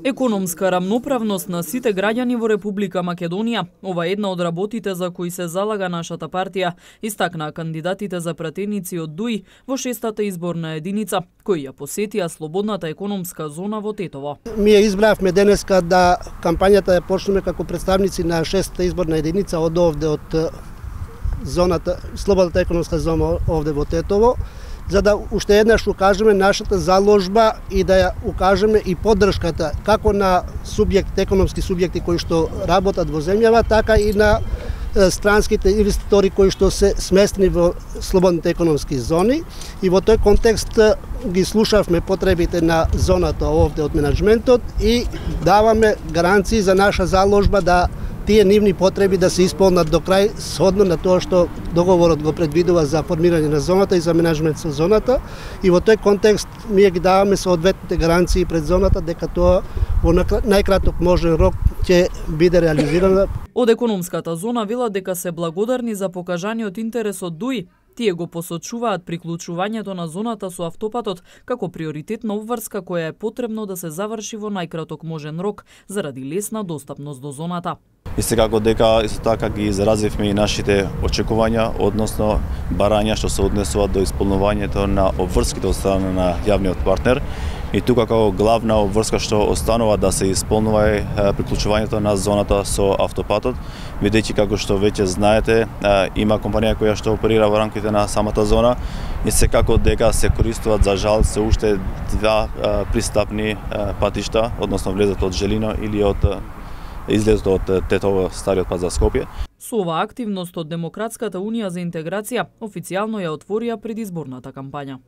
Економска рамноправност на сите граѓани во Република Македонија. Ова е една од работите за кои се залага нашата партија, истакнаа кандидатите за пратеници од ДУИ во 6-та изборна единица, кои ја посетија слободната економска зона во Тетово. Ние избравме денеска да кампањата ја почнеме како представници на 6-та изборна единица од овде од зоната, слободната економска зона овде во Тетово, за да уште еднаш укажеме нашата заложба и да ја укажеме и поддршката како на економски субјекти кои што работат во земјава, така и на странските инвеститори кои што се сместени во слободните економски зони. И во тој контекст ги слушавме потребите на зоната овде од менаџментот и даваме гаранции за наша заложба да тие нивни потреби да се исполнат до крај, сhodно на тоа што договорот го предвидува за формирање на зоната и за менаџмент со зоната. И во тој контекст ние ги даваме соодветните гаранции пред зоната дека тоа во најкраток можен рок ќе биде реализирано. Од економската зона велат дека се благодарни за покажаниот интерес од ДУИ. Тие го посочуваат приклучувањето на зоната со автопатот како приоритетна обврска која е потребно да се заврши во најкраток можен рок заради лесна достапност до зоната. И секако дека исто така ги изразивме и нашите очекувања, односно барања што се однесуваат до исполнувањето на обврските од страна на јавниот партнер. И тука како главна обврска што останува да се исполнува е приклучувањето на зоната со автопатот, бидејќи како што веќе знаете, има компанија која што оперира во рамките на самата зона и секако дека се користуваат за жал се уште два пристапни патишта, односно влезот од Желино или од излезот од Тетово, стариот пат за Скопје. Со ова активност од Демократската унија за интеграција официјално ја отворија предизборната кампања.